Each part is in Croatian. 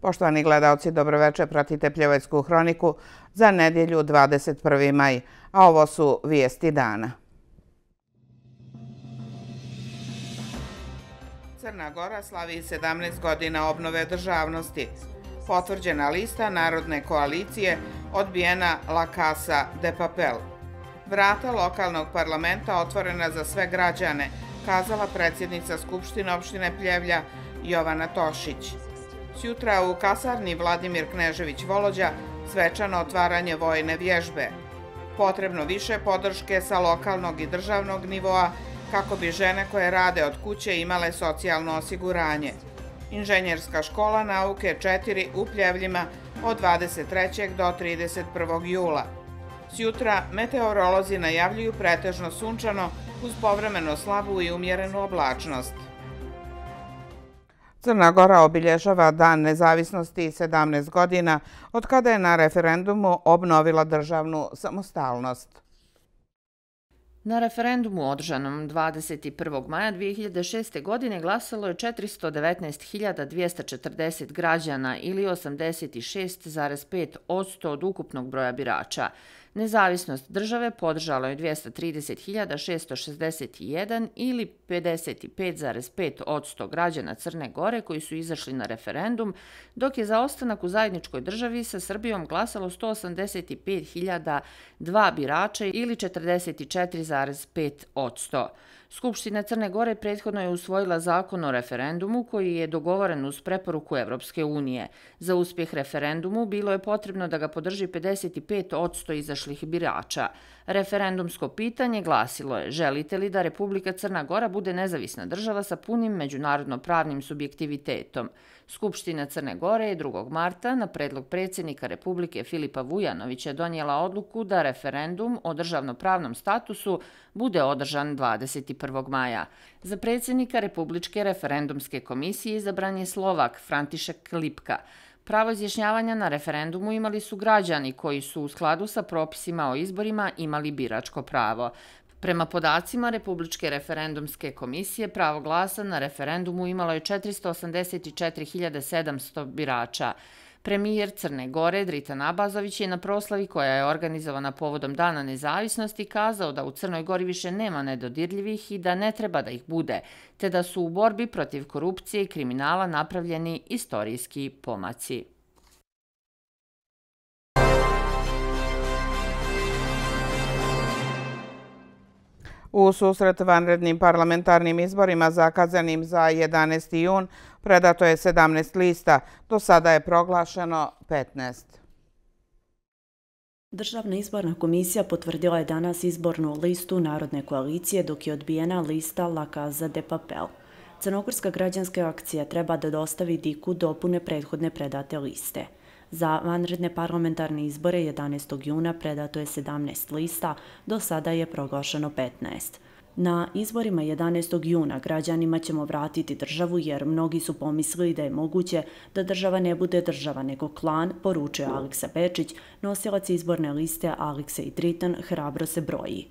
Poštovani gledaoci, dobroveče, pratite Pljevajsku hroniku za nedjelju 21. maj, a ovo su vijesti dana. Crna Gora slavi 17 godina obnove državnosti. Potvrđena lista Narodne koalicije, odbijena La Casa de Papel. Vrata lokalnog parlamenta otvorena za sve građane, kazala predsjednica Skupštine opštine Pljevlja Jovana Tošić. Sjutra u kasarni Vladimir Knežević Volođa svečano otvaranje vojne vježbe. Potrebno više podrške sa lokalnog i državnog nivoa kako bi žene koje rade od kuće imale socijalno osiguranje. Inženjerska škola nauke 4 u Pljevljima od 23. do 31. jula. Sjutra meteorolozi najavljuju pretežno sunčano uz povremeno slabu i umjerenu oblačnost. Crna Gora obilježava Dan nezavisnosti 17 godina od kada je na referendumu obnovila državnu samostalnost. Na referendumu održanom 21. maja 2006. godine glasalo je 419.240 građana ili 86,5% od ukupnog broja birača. Nezavisnost države podržalo je 230.661 ili 55,5% građana Crne Gore koji su izašli na referendum, dok je za ostanak u zajedničkoj državi sa Srbijom glasalo 185.002 birača ili 44,5%. Skupština Crne Gore prethodno je usvojila zakon o referendumu koji je dogovoren uz preporuku Evropske unije. Za uspjeh referendumu bilo je potrebno da ga podrži 55% izašlih birača. Referendumsko pitanje glasilo je: želite li da Republika Crna Gora bude nezavisna država sa punim međunarodno-pravnim subjektivitetom? Skupština Crne Gore je 2. marta na predlog predsjednika Republike Filipa Vujanovića donijela odluku da referendum o državno-pravnom statusu bude održan 21. maja. Za predsjednika Republičke referendumske komisije izabran je Slovak František Lipka. Pravo izjašnjavanja na referendumu imali su građani koji su u skladu sa propisima o izborima imali biračko pravo. Prema podacima Republičke referendumske komisije, pravo glasa na referendumu imalo je 484.700 birača. Premijer Crne Gore Dritan Abazović je na proslavi koja je organizovana povodom Dana nezavisnosti kazao da u Crnoj Gori više nema nedodirljivih i da ne treba da ih bude, te da su u borbi protiv korupcije i kriminala napravljeni istorijski pomaci. U susret vanrednim parlamentarnim izborima zakazanim za 11. jun predato je 17 lista, do sada je proglašeno 15. Državna izborna komisija potvrdila je danas izbornu listu Narodne koalicije, dok je odbijena lista La Casa de Papel. Crnogorska građanska akcija treba da dostavi DIK-u dopune prethodne predate liste. Za vanredne parlamentarne izbore 11. juna predato je 17 lista, do sada je proglašeno 15. Na izborima 11. juna građanima ćemo vratiti državu jer mnogi su pomislili da je moguće da država ne bude država nego klan, poručuje Aleksa Bečić, nosilac izborne liste Aleksa i Dritan hrabro se broji.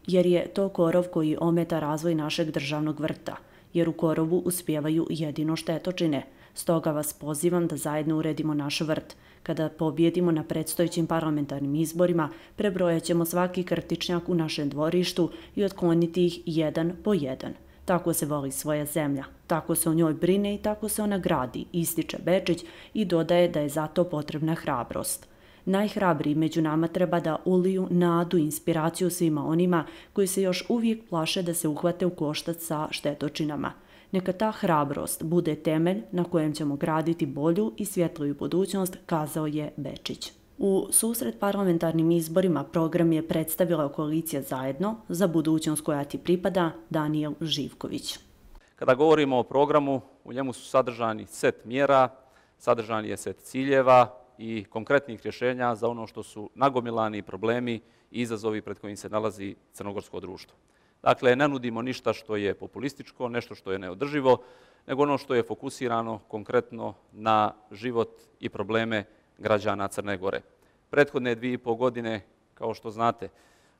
Jer je to korov koji ometa razvoj našeg državnog vrta, jer u korovu uspijevaju jedino štetočine. Stoga vas pozivam da zajedno uredimo naš vrt. Kada pobjedimo na predstojećim parlamentarnim izborima, prebrojat ćemo svaki krtičnjak u našem dvorištu i otkloniti ih jedan po jedan. Tako se voli svoja zemlja, tako se o njoj brine i tako se ona gradi, ističe Bečić i dodaje da je zato potrebna hrabrost. Najhrabriji među nama treba da uliju nadu i inspiraciju svima onima koji se još uvijek plaše da se uhvate u koštac sa štetočinama. Neka ta hrabrost bude temelj na kojem ćemo graditi bolju i svjetliju budućnost, kazao je Bečić. U susret parlamentarnim izborima program je predstavila koalicija Zajedno za budućnost koja ti pripada, Danijel Živković. Kada govorimo o programu, u njemu su sadržani set mjera, sadržani je set ciljeva i konkretnih rješenja za ono što su nagomilani problemi i izazovi pred kojim se nalazi crnogorsko društvo. Dakle, ne nudimo ništa što je populističko, nešto što je neodrživo, nego ono što je fokusirano konkretno na život i probleme građana Crne Gore. Prethodne 2,5 godine, kao što znate,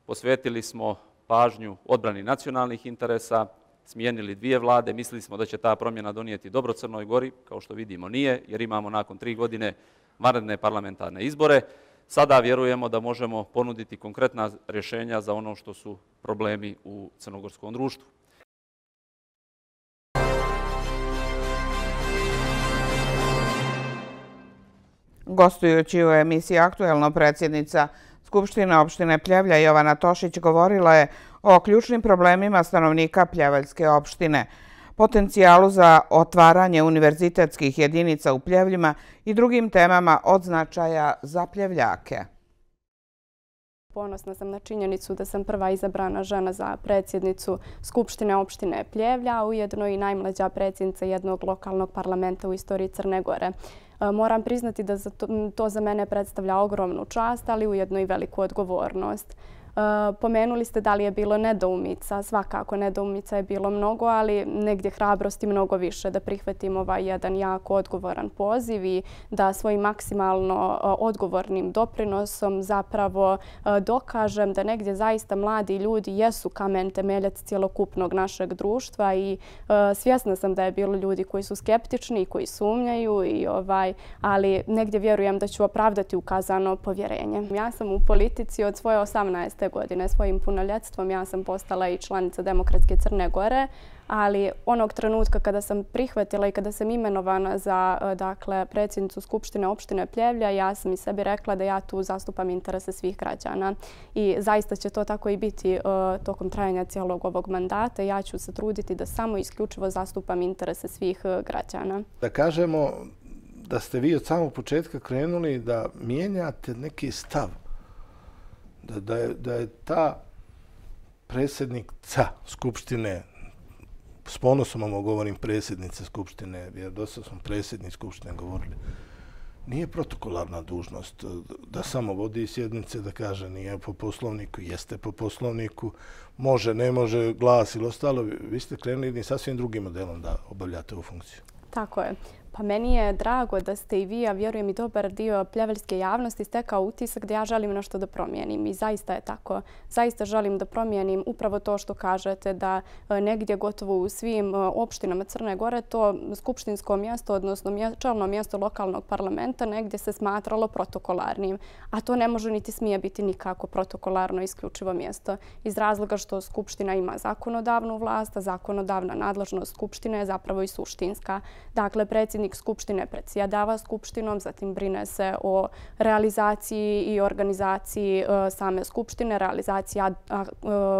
posvetili smo pažnju odbrani nacionalnih interesa, smijenili 2 vlade, mislili smo da će ta promjena donijeti dobro Crnoj Gori, kao što vidimo nije, jer imamo nakon 3 godine vanredne parlamentarne izbore. Sada vjerujemo da možemo ponuditi konkretna rješenja za ono što su problemi u crnogorskom društvu. Gostujući u emisiji Aktuelno, predsjednica Skupštine opštine Pljevlja Jovana Tošić govorila je o ključnim problemima stanovnika Pljevaljske opštine, potencijalu za otvaranje univerzitetskih jedinica u Pljevljima i drugim temama od značaja za Pljevljake. Ponosna sam na činjenicu da sam prva izabrana žena za predsjednicu Skupštine opštine Pljevlja, a ujedno i najmlađa predsjednica jednog lokalnog parlamenta u istoriji Crne Gore. Moram priznati da to za mene predstavlja ogromnu čast, ali ujedno i veliku odgovornost. Pomenuli ste da li je bilo nedoumica. Svakako nedoumica je bilo mnogo, ali negdje hrabrosti mnogo više da prihvatim ovaj jedan jako odgovoran poziv i da svojim maksimalno odgovornim doprinosom zapravo dokažem da negdje zaista mladi ljudi jesu kamen temeljac cjelokupnog našeg društva i svjesna sam da je bilo ljudi koji su skeptični i koji sumnjaju, ali negdje vjerujem da ću opravdati ukazano povjerenje. Ja sam u politici od svoje 18. godine. Svojim punoljetstvom ja sam postala i članica Demokratske Crne Gore, ali onog trenutka kada sam prihvatila i kada sam imenovana za predsjednicu Skupštine opštine Pljevlja, ja sam i sebi rekla da ja tu zastupam interese svih građana. I zaista će to tako i biti tokom trajanja cijelog ovog mandata. Ja ću se truditi da samo isključivo zastupam interese svih građana. Da kažemo da ste vi od samog početka krenuli da mijenjate neki stav. Da je ta predsjednica Skupštine, s ponosom vam govorim predsjednice Skupštine, jer dosta smo predsjednici Skupštine govorili, nije protokolarna dužnost da samo vodi sjednice, da kaže nije po poslovniku, jeste po poslovniku, može, ne može, glas ili ostalo. Vi ste krenuli jednim sasvim drugim modelom da obavljate ovu funkciju. Tako je. Pa meni je drago da ste i vi, a vjerujem i dobar dio pljevaljske javnosti, stekao utisak da ja želim nešto da promijenim. I zaista je tako. Zaista želim da promijenim upravo to što kažete, da negdje gotovo u svim opštinama Crne Gore to skupštinsko mjesto, odnosno čelno mjesto lokalnog parlamenta, negdje se smatralo protokolarnim. A to ne može niti smije biti nikako protokolarno isključivo mjesto. Iz razloga što Skupština ima zakonodavnu vlast, a zakonodavna nadležnost Skupštine je zapravo i suštinska. Dakle, predsjednik Skupštine predsjedava Skupštinom, zatim brine se o realizaciji i organizaciji same Skupštine, realizaciji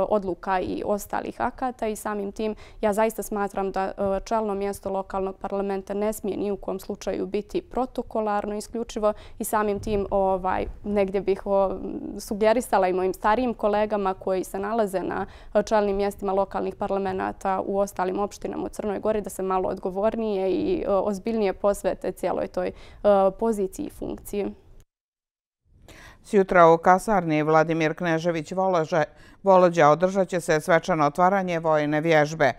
odluka i ostalih akata i samim tim ja zaista smatram da čelno mjesto lokalnog parlamenta ne smije ni u kom slučaju biti protokolarno isključivo i samim tim negdje bih sugerisala i mojim starijim kolegama koji se nalaze na čelnim mjestima lokalnih parlamenta u ostalim opštinama u Crnoj Gori da se malo odgovornije i ozbiljnije posvete cijeloj toj poziciji i funkciji. Sjutra u kasarni Vladimir Knežević Volođa održat će se svečano otvaranje vojne vježbe.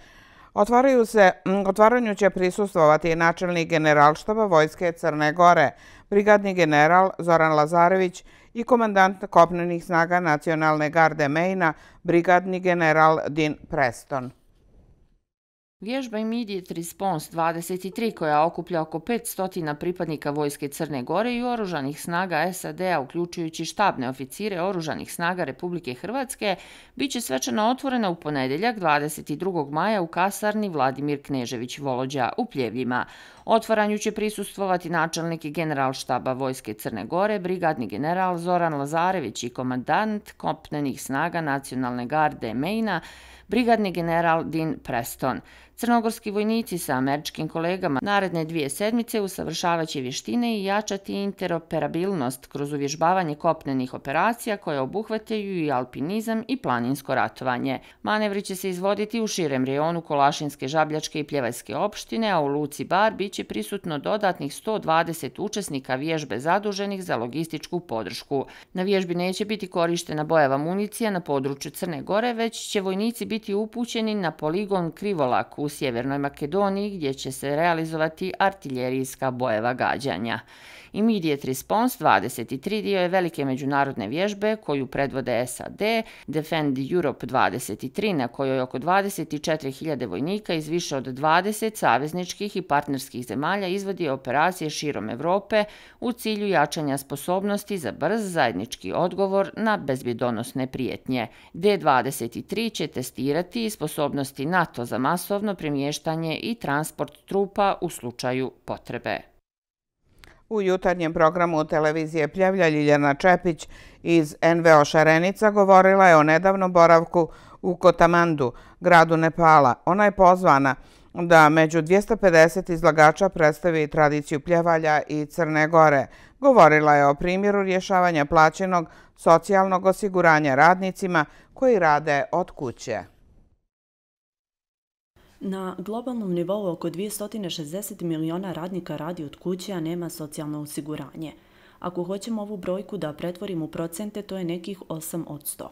Otvaranju će prisustvovati načelnik Generalštaba Vojske Crne Gore, brigadni general Zoran Lazarević i komandant kopnenih snaga Nacionalne garde Mejna, brigadni general Din Preston. Vježba Immediate Response 23, koja okuplja oko 500 pripadnika Vojske Crne Gore i oružanih snaga SAD-a, uključujući štabne oficire oružanih snaga Republike Hrvatske, bit će svečano otvorena u ponedjeljak 22. maja u kasarni Vladimir Knežević Volođa u Pljevljima. Otvaranju će prisustvovati načelnik Generalštaba Vojske Crne Gore, brigadni general Zoran Lazarević i komandant kopnenih snaga Nacionalne garde Mejna, brigadni general Din Preston. Crnogorski vojnici sa američkim kolegama naredne 2 sedmice usavršavaće vještine i jačati interoperabilnost kroz uvježbavanje kopnenih operacija koje obuhvataju i alpinizam i planinsko ratovanje. Manevri će se izvoditi u širem rejonu Kolašinske, Žabljačke i Pljevaljske opštine, a u Luci Bar bit će prisutno dodatnih 120 učesnika vježbe zaduženih za logističku podršku. Na vježbi neće biti korištena bojava municija na području Crne Gore, već će vojnici biti upućeni na poligon Krivolak u Sjevernoj Makedoniji gdje će se realizovati artiljerijska bojeva gađanja. Immediate Response 23 dio je velike međunarodne vježbe koju predvode SAD, Defend Europe 23 na kojoj oko 24.000 vojnika iz više od 20 savezničkih i partnerskih zemalja izvodi operacije širom Evrope u cilju jačanja sposobnosti za brz zajednički odgovor na bezbjedonosne prijetnje. D23 će testirati sposobnosti NATO za masovno premještanje i transport trupa u slučaju potrebe. U jutarnjem programu televizije Pljevlja Ljiljana Čepić iz NVO Šarenica govorila je o nedavnom boravku u Kotamandu, gradu Nepala. Ona je pozvana da među 250 izlagača predstavi tradiciju pljevalja i Crne Gore. Govorila je o primjeru rješavanja plaćenog socijalnog osiguranja radnicima koji rade od kuće. Na globalnom nivou oko 260 miliona radnika radi od kuće, a nema socijalno osiguranje. Ako hoćemo ovu brojku da pretvorimo u procente, to je nekih 8%.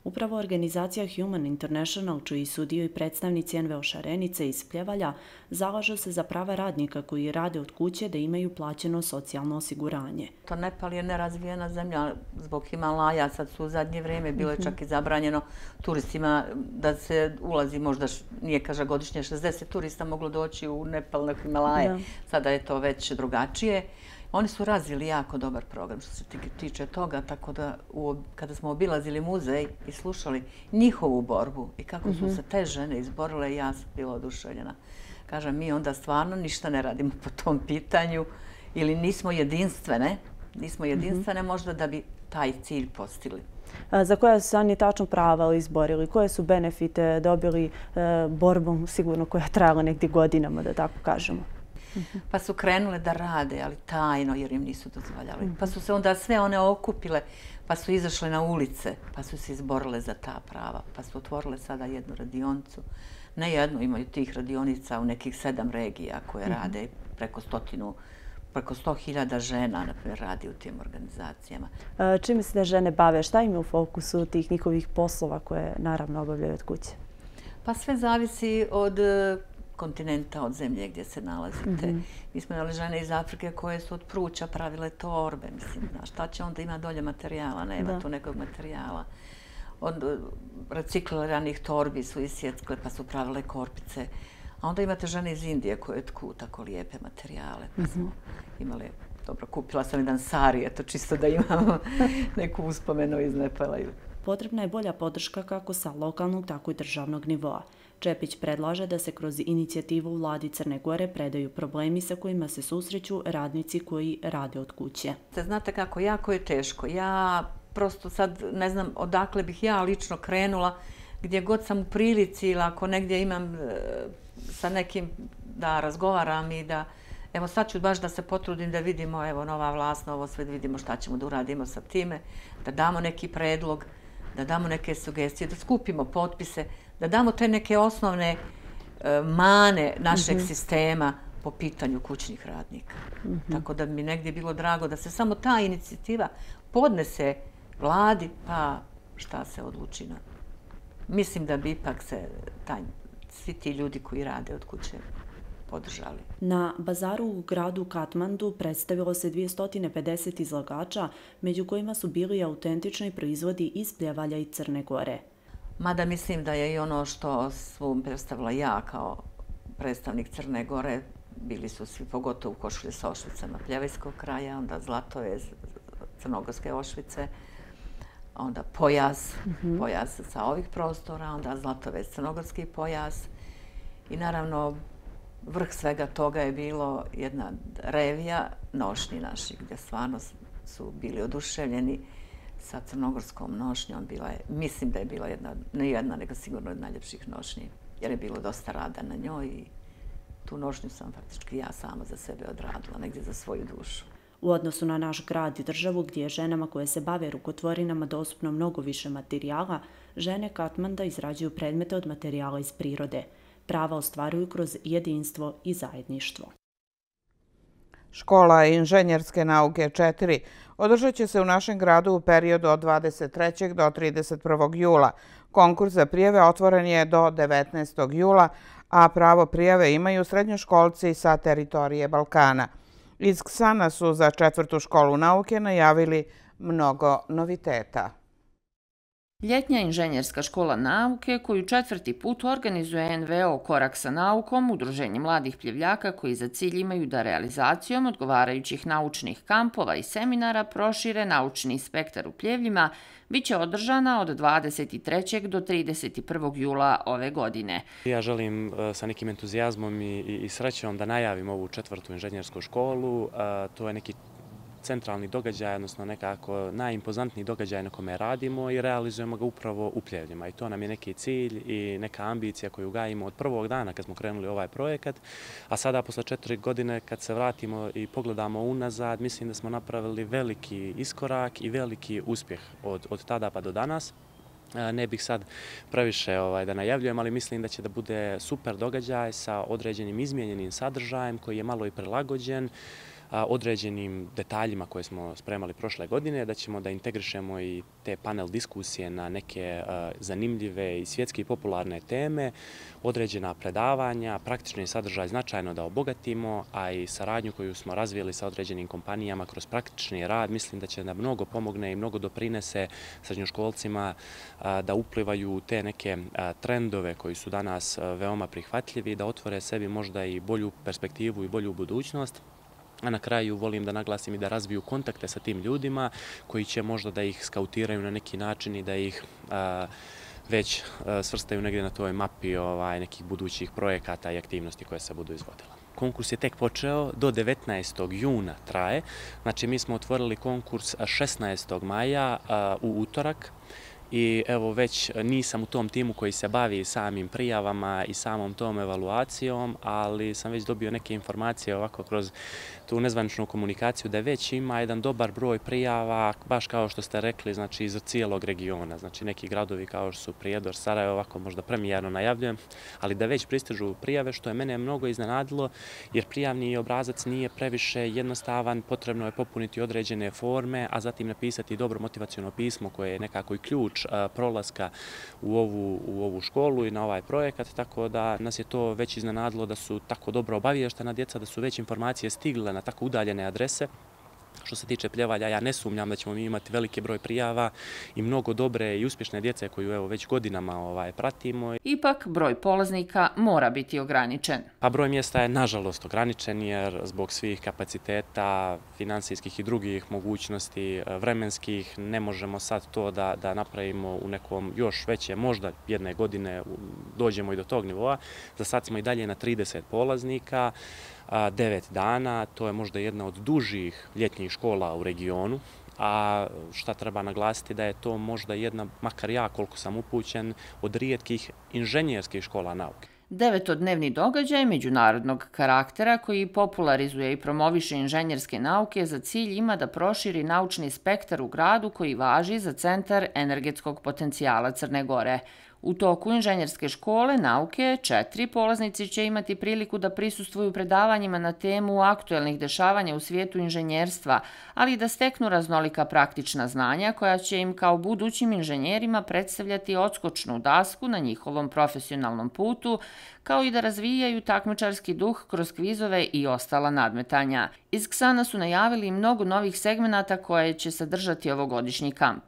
Upravo organizacija Human International, čiji su dio i predstavnici NVO Šarenice iz Pljevalja, zalažu se za prava radnika koji rade od kuće da imaju plaćeno socijalno osiguranje. Nepal je nerazvijena zemlja zbog Himalaja, sad su u zadnje vrijeme bilo je čak i zabranjeno turistima da se ulazi, možda nije kaže godišnje 60 turista moglo doći u Nepal na Himalaje, sada je to već drugačije. Oni su razvili jako dobar program što se tiče toga, tako da kada smo obilazili muzej i slušali njihovu borbu i kako su se te žene izborile, ja sam bila oduševljena. Kažem, mi onda stvarno ništa ne radimo po tom pitanju ili nismo jedinstvene možda da bi taj cilj postigli. Za koja su se oni tačno prava izborili? Koje su benefite dobili borbom sigurno koja je trajala negdje godinama, da tako kažemo? Pa su krenule da rade, ali tajno jer im nisu dozvoljali. Pa su se onda sve one okupile, pa su izašle na ulice, pa su se izborile za ta prava, pa su otvorile sada jednu radionicu. Ne jednu, imaju tih radionica u nekih 7 regija koje rade preko 100.000 žena, na primjer, radi u tim organizacijama. Čime se da žene bave? Šta im je u fokusu tih njihovih poslova koje naravno obavljaju od kuće? Pa sve zavisi od kontinenta, od zemlje gdje se nalazite. Mi smo imali žene iz Afrike koje su od pruća pravile torbe. Mislim, šta će onda ima dolje materijala? Nema tu nekog materijala. Od recikliranih torbi su isjeckle pa su pravile korpice. A onda imate žene iz Indije koje tku tako lijepe materijale. Pa smo imali, dobro, kupila sam jedan sari, eto čisto da imamo neku uspomenu iz Nepala. Potrebna je bolja podrška kako sa lokalnog, tako i državnog nivoa. Čepić predlaže da se kroz inicijativu vladi Crne Gore predaju problemi sa kojima se susreću radnici koji rade od kuće. Znate kako, jako je teško. Ja prosto sad ne znam odakle bih ja lično krenula, gdje god sam u prilici ili ako negdje imam sa nekim da razgovaram i da, evo sad ću baš da se potrudim da vidimo, evo nova vlast, novo sve, da vidimo šta ćemo da uradimo sa time, da damo neki predlog, da damo neke sugestije, da skupimo potpise, da damo te neke osnovne mane našeg sistema po pitanju kućnih radnika. Tako da mi negdje bilo drago da se samo ta inicijativa podnese vladi, pa šta se odluči na. Mislim da bi ipak se svi ti ljudi koji rade od kuće podržali. Na bazaru u gradu Katmandu predstavilo se 250 izlagača, među kojima su bili autentični proizvodi iz Pljevalja i Crne Gore. Mada mislim da je i ono što sam predstavila ja kao predstavnik Crne Gore, bili su svi pogotovo košulje sa ošvicama Pljevajskog kraja, onda zlatove crnogorske ošvice, onda pojas sa ovih prostora, onda zlatove crnogorski pojas i naravno vrh svega toga je bilo jedna revija nošnji naših gdje stvarno su bili oduševljeni sa crnogorskom nošnjom. Mislim da je bila ne jedna, nego sigurno od najljepših nošnji, jer je bilo dosta rada na njoj i tu nošnju sam faktički ja sama za sebe odradila, negdje za svoju dušu. U odnosu na naš grad i državu, gdje je ženama koje se bave rukotvorinama dostupno mnogo više materijala, žene Katmanda izrađuju predmete od materijala iz prirode. Prava ostvaruju kroz jedinstvo i zajedništvo. Škola inženjerske nauke 4 održat će se u našem gradu u periodu od 23. do 31. jula. Konkurs za prijave otvoren je do 19. jula, a pravo prijave imaju srednjoškolci sa teritorije Balkana. Iz Ksana su za 4. školu nauke najavili mnogo noviteta. Ljetnja inženjerska škola nauke, koju 4. put organizuje NVO Korak sa naukom, udruženje mladih pljevljaka koji za cilj imaju da realizacijom odgovarajućih naučnih kampova i seminara prošire naučni spektar u Pljevljima, bit će održana od 23. do 31. jula ove godine. Ja želim sa nekim entuzijazmom i srećom da najavim ovu 4. inženjersku školu. To je neki centralni događaj, odnosno nekako najimpozantniji događaj na kome radimo i realizujemo ga upravo u Pljevljima. I to nam je neki cilj i neka ambicija koju gajimo od prvog dana kad smo krenuli ovaj projekat. A sada, posle 4 godine, kad se vratimo i pogledamo unazad, mislim da smo napravili veliki iskorak i veliki uspjeh od tada pa do danas. Ne bih sad previše da najavljujem, ali mislim da će da bude super događaj sa određenim izmijenjenim sadržajem koji je malo i prilagođen određenim detaljima koje smo spremali prošle godine, da ćemo da integrišemo i te panel diskusije na neke zanimljive i svjetski popularne teme, određena predavanja, praktični sadržaj značajno da obogatimo, a i saradnju koju smo razvijeli sa određenim kompanijama kroz praktični rad, mislim da će da mnogo pomogne i mnogo doprinese srednjoškolcima da uplivaju u te neke trendove koji su danas veoma prihvatljivi, da otvore sebi možda i bolju perspektivu i bolju budućnost. A na kraju volim da naglasim i da razviju kontakte sa tim ljudima koji će možda da ih skautiraju na neki način i da ih već svrstaju negdje na toj mapi nekih budućih projekata i aktivnosti koje se budu izvodile. Konkurs je tek počeo, do 19. juna traje. Znači, mi smo otvorili konkurs 16. maja u utorak. I evo, već nisam u tom timu koji se bavi samim prijavama i samom tom evaluacijom, ali sam već dobio neke informacije ovako kroz tu nezvaničnu komunikaciju da već ima jedan dobar broj prijava, baš kao što ste rekli, znači iz cijelog regiona. Znači neki gradovi kao što su Prijedor, Sarajevo, ovako možda premijerno najavljujem, ali da već pristižu prijave, što je mene mnogo iznenadilo, jer prijavni obrazac nije previše jednostavan, potrebno je popuniti određene forme, a zatim napisati dobro motivaciono pismo koje je nekako i ključ prolaska u ovu školu i na ovaj projekat, tako da nas je to već iznenadilo da su tako dobro obaviještena djeca, da su već informacije stigle na tako udaljene adrese. Što se tiče Pljevalja, ja ne sumnjam da ćemo mi imati veliki broj prijava i mnogo dobre i uspješne djece koju evo već godinama pratimo. Ipak, broj polaznika mora biti ograničen. A broj mjesta je nažalost ograničen jer zbog svih kapaciteta, finansijskih i drugih mogućnosti, vremenskih, ne možemo sad to da napravimo u nekom još veće, možda jedne godine dođemo i do tog nivoa. Za sad smo i dalje na 30 polaznika. 9 dana, to je možda jedna od dužih ljetnjih škola u regionu, a šta treba naglasiti da je to možda jedna, makar ja koliko sam upućen, od rijetkih inženjerskih škola nauke. 9-dnevni događaj međunarodnog karaktera koji popularizuje i promoviše inženjerske nauke za cilj ima da proširi naučni spektar u gradu koji važi za centar energetskog potencijala Crne Gore. U toku inženjerske škole nauke 4 polaznici će imati priliku da prisustvuju predavanjima na temu aktuelnih dešavanja u svijetu inženjerstva, ali i da steknu raznolika praktična znanja koja će im kao budućim inženjerima predstavljati odskočnu dasku na njihovom profesionalnom putu, kao i da razvijaju takmičarski duh kroz kvizove i ostala nadmetanja. Iz Ksana su najavili mnogo novih segmenata koje će sadržati ovogodišnji kamp.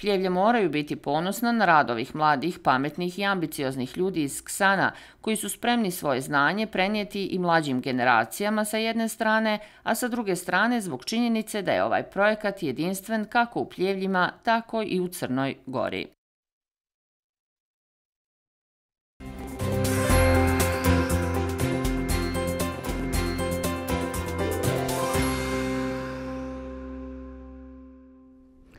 Pljevlje moraju biti ponosna na rad ovih mladih, pametnih i ambicioznih ljudi iz Ksana, koji su spremni svoje znanje prenijeti i mlađim generacijama sa jedne strane, a sa druge strane zbog činjenice da je ovaj projekat jedinstven kako u Pljevljima, tako i u Crnoj Gori.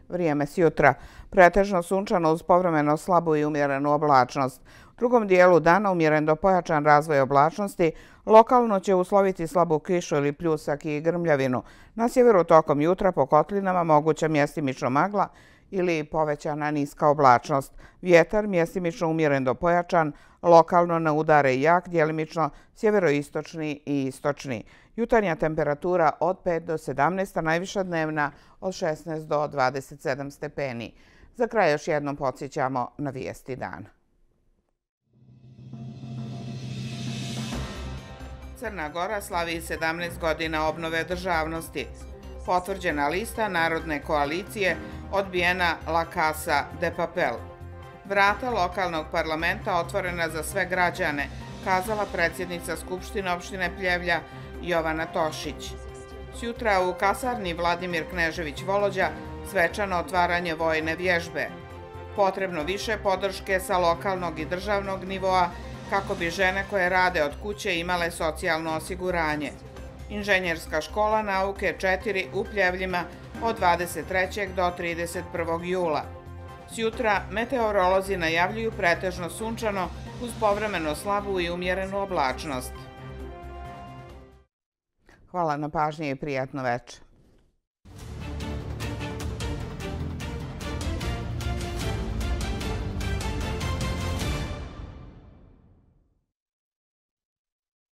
Vrijeme s jutra. Pretežno sunčano uz povremeno slabu i umjerenu oblačnost. U drugom dijelu dana umjeren do pojačan razvoj oblačnosti, lokalno će usloviti slabu kišu ili pljusak i grmljavinu. Na sjeveru tokom jutra po kotlinama moguća mjestimično magla ili povećana niska oblačnost. Vjetar mjestimično umjeren do pojačan, lokalno na udare i jak, djelimično sjeveroistočni i istočni. Jutarnja temperatura od 5 do 17, a najviša dnevna od 16 do 27 stepeni. Za kraj još jednom podsjećamo na vijesti dana. Crna Gora slavi 17 godina obnove državnosti. Potvrđena lista Narodne koalicije, odbijena La Casa de Papel. Vrata lokalnog parlamenta otvorena za sve građane, kazala predsjednica Skupštine opštine Pljevlja Jovana Tošić. Sjutra u kasarni Vladimir Knežević Volođa svečano otvaranje vojne vježbe. Potrebno više podrške sa lokalnog i državnog nivoa kako bi žene koje rade od kuće imale socijalno osiguranje. Inženjerska škola nauke 4 u Pljevljima od 23. do 31. jula. Sjutra meteorolozi najavljuju pretežno sunčano uz povremeno slabu i umjerenu oblačnost. Hvala na pažnji i prijatno večer.